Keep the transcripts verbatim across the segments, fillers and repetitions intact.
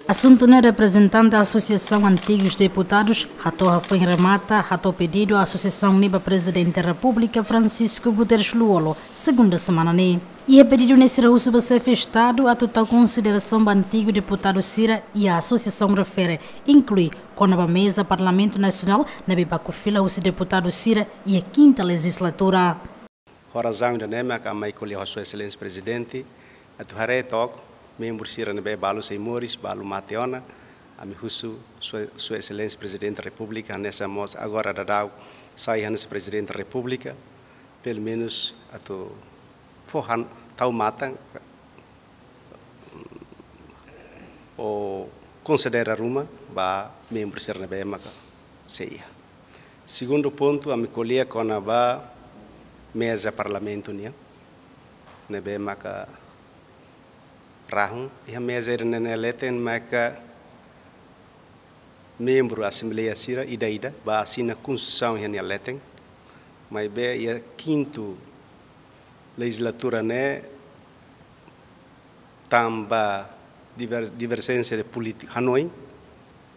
Asuntu ne'e, reprezentante Asosiasaun Antigus Deputadus hato'o hafoin remata hato'o pedidu asosiasaun ne'e ba Prezidente Repúblika Francisco Guterres Lú-Olo, segunda semana ne'e. Iha pedidu ne'e sira husu ba Xefe Estadu atu tau konsiderasaun ba antigu deputadu sira iha asosiasaun refere, inklui kona-ba meza Parlamentu Nasionál ne'ebé baku fila husi deputadu sira iha kinta lejizlatura. Ho razaun ida-ne'e maka ami ko'alia ho Sua Exelénsia Prezidente atu haree took membru sira ne'ebé balu sei moris, balu mate ona, ami husu Sua, Sua Exelénsia Prezidente Repúblika, hanesan mós agora daudaun sai hanesan Prezidente Repúblika, pelumenus atu fó han tau matan, ou konsidera ruma ba membru sira ne'ebé maka sei iha. Segundu pontu, ami ko'alia kona-ba meza Parlamentu nian, ne'ebé maka rahun, iha meza ida-ne'e nia leten maka membru Asembleia sira ida-ida bá asina Konstituisaun iha nia leten, maibé iha kintu lejizlatura ne'e tanba diver-, diverjénsia de polítika hanoin,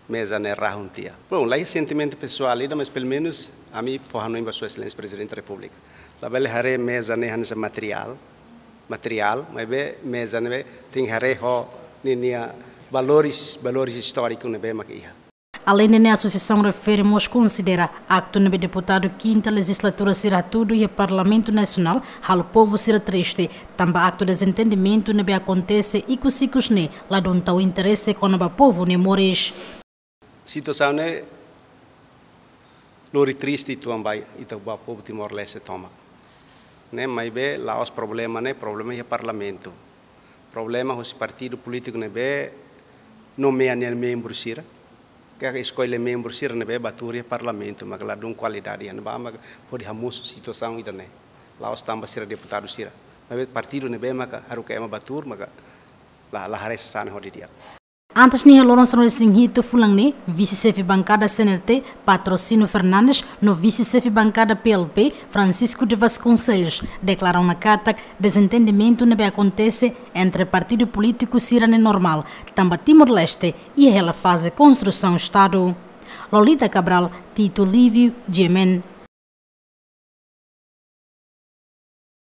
meza ne'e rahun tiha. Bom, laiha sentimentu pesoál ida, mas pelumenus ami fó hanoin ba Sua Exelénsia Prezidente Repúblika. Labele haree meza ne'e hanesan materiál, materiál, maibé meza ne'e tenke haree ho ninia valores, valores istóriku ne'ebé maka iha. Aleinde ne'e, asosiasaun refere mós konsidera aktu ne'ebé deputadu kinta lejizlatura sira hatudu iha Parlamentu Nasionál halo povu sira triste, tanba aktu dezentendimentu ne'ebé akontese ikus-ikus ne'e ladún tau interese kona-ba povu nia moris. Situasaun ne'e lori triste uitoan ba ita, ba povu Timor-Leste tomak. Ne'e, maibé la'ós problema ne'e, problema iha Parlamentu. Problema husi partidu polítiku ne'ebé nomeia nia membru sira, ka eskolle membru sira ne'ebé bá tuur iha Parlamentu, maka ladún kualidade, iha ne'ebá maka hodi hamosu situasaun ida-ne'e. La'ós tanba sira deputadu sira, maibé partidu ne'ebé maka haruka ema bá tuur, maka la, la haree sasán hodi di'ak. Antes ne'e, iha loron sanulu-resin-hitu fulan ne'e, Vise-Xefe Bankada C N R T, Patrocínio Fernandes, no Vise-Xefe Bankada P L P, Francisco de Vasconcelos, deklara ona katak dezentendimentu ne'ebé akontese entre partidu polítiku sira ne'e normál, tanba Timor-Leste iha hela faze konstrusaun Estadu. Lolita Cabral, Tito Lívio, G M N.